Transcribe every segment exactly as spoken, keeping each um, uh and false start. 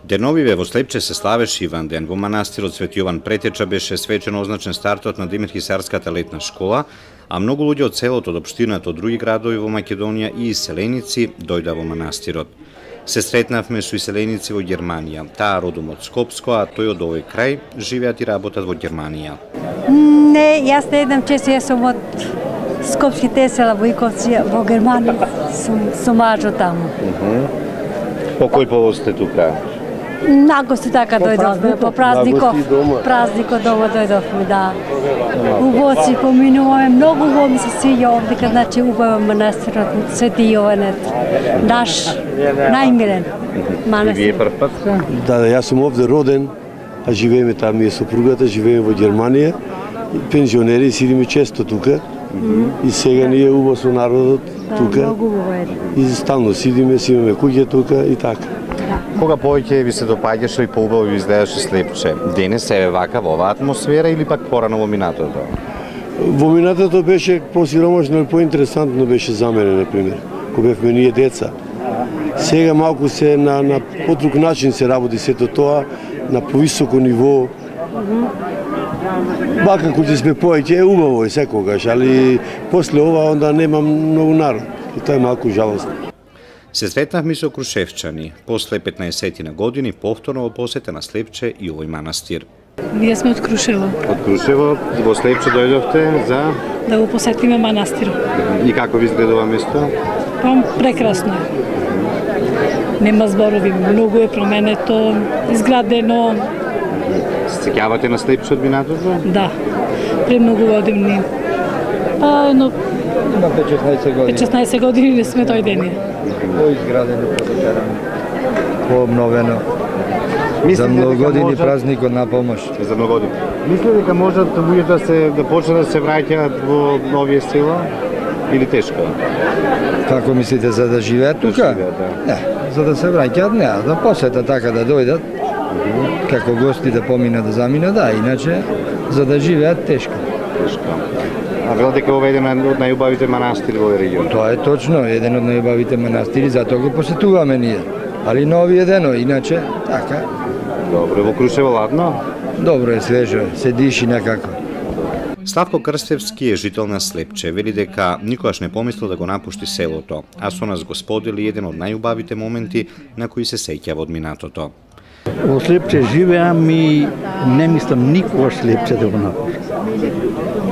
Деновиве во Слепче се славеше Иван ден. Во манастирот Свети Јован Претеча беше свечено означен стартот на Димирхисарската летна школа, а многу луѓе од селото, од општината, од други градови во Македонија и иселеници дојда во манастирот. Се сретнавме со иселеници во Германија. Таа родом од Скопско, а тој од овој крај, живеат и работат во Германија. Не, јас не идам често, јас сум од Скопските села Војковци во Германија, сум со мажо таму. По кој повод сте тука? Нагости така дојдовме, по празников, празникот дома дојдовме, да. Убаво поминуваме, многу убаво ми се свиѓа овдека, значи убаво манастирот Свети Јованет, наш најмилен манастир. И вие прв пат? Да, да, јас сум овде роден, а живееме таму е сопругата, живееме во Германија, пензионери, сидиме често тука. И сега ние убаво со народот тука. И стално сидиме, си имаме куќа тука и така. Кога повеќе ви се допаѓаше и поубаво ви изгледаше Слепче? Денес е вака во оваа атмосфера или пак порано во минатото? Во минатото беше посиромашно и поинтересантно беше за мене, например, кога бевме ние деца. Сега малку се на, на подруг начин се работи сето тоа, на повисоко ниво. Бака кога сме повеќе е убаво и секогаш, али после ова онда нема многу народ. И тоа е малку жалостно. Се сретнавме со крушевчани. После петнаесет години повторно во посета на Слепче и овој манастир. Ние сме од Крушево. Од Крушево во Слепче дојдовте за да го посетиме манастирот. И како ви изгледува место? Па прекрасно е. Нема зборови, многу е променето, изградено. Се сеќавате на Слепче од минатото? Да. Премногу години. Па едно Има пет-шеснаесет години. пет-шеснаесет години не сме дојдени. Поизградено, подотерано, пообновено. За многу години празникот на помош. За многу години. Мислите дека можат луѓето да се да почнат да се враќаат во новија села или тешко? Како мислите, за да живеат тука? Да. Не, за да се враќаат не, да посета така да дојдат, како гости да поминат да заминат, да, иначе за да живеат тешко. Тешко. А велат дека ова е еден од најубавите манастири во регионот. Тоа е точно, еден од најубавите манастири, затоа го посетуваме ние. Али нови едено, иначе така. Добро, во Крушево ладно? Добро е, свежо, се диши некако. Славко Крстевски е жител на Слепче. Вели дека никогаш не помислил да го напушти селото, а со нас го сподели еден од најубавите моменти на кои се сеќава од минатото. Во Слепче живеам и не мислам никогаш Слепче да го напуштам.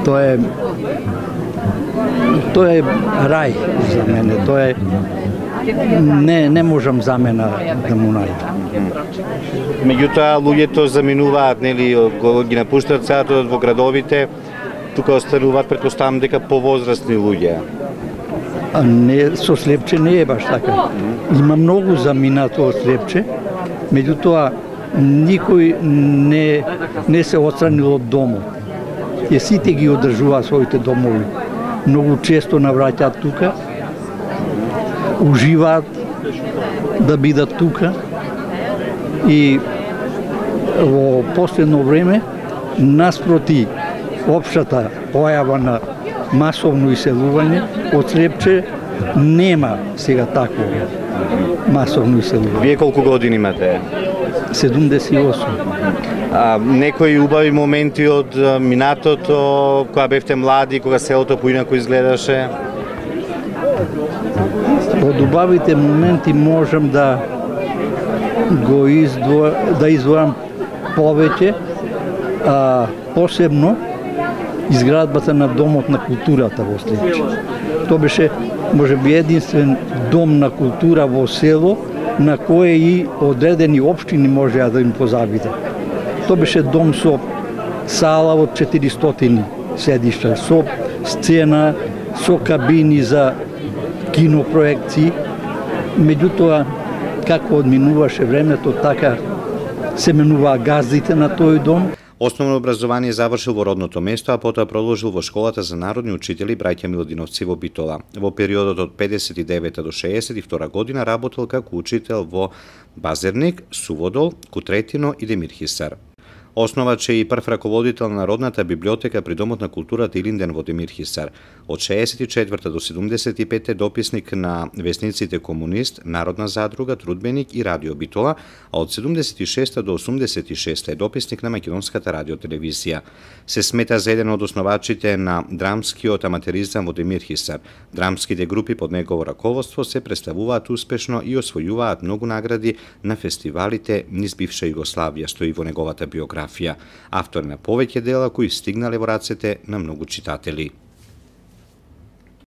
Тоа е тоа е рај за мене, тоа е не не можам за мене да му најдам. Меѓутоа луѓето заминуваат, нели, ги напуштаат селото во градовите, тука остануваат, претпоставам дека повозрастни луѓе. А не, со Слепче не е баш така. Има многу заминато од Слепче, меѓутоа никој не не се отстранил од домот. И сите ги одржуваат своите домови. Многу често навраќаат тука, уживаат да бидат тука и во последно време наспроти општата појава на масовно иселување од Слепче нема сега такво масовно иселување. Вие колку години имате? седумдесет и осум. А, некои убави моменти од минатото, кога бевте млади, кога селото поинако изгледаше? Од убавите моменти можам да го издво, да издвојам повеќе, а посебно изградбата на Домот на културата во Слепче. Тоа беше можеби единствен дом на култура во село на кое и одредени општини можеа да им позабиде. Тоа беше дом со сала од четиристотини седишта, со сцена, со кабини за кинопроекции. Меѓутоа, како одминуваше времето, така се менуваа газдите на тој дом. Основно образование завршил во родното место, а потоа продолжил во школата за народни учители браќа Милодиновци во Битола. Во периодот од педесет и девета до шеесет и втора година работел како учител во Базерник, Суводол, Кутретино и Демирхисар. Основач е и прв раководител на Народната библиотека при Домот на културата Илинден во Демир Хисар. Од шеесет и четврта до седумдесет и петта дописник на весниците Комунист, Народна задруга, Трудбеник и Радио Битола, а од седумдесет и шеста до осумдесет и шеста е дописник на Македонската радиотелевизија. Се смета за еден од основачите на драмскиот аматеризам во Демир Хисар. Драмските групи под негово раководство се представуваат успешно и освојуваат многу награди на фестивалите низ бивша Југославија, стои во неговата биографија. Автор на повеќе дела кои стигнале во рацете на многу читатели.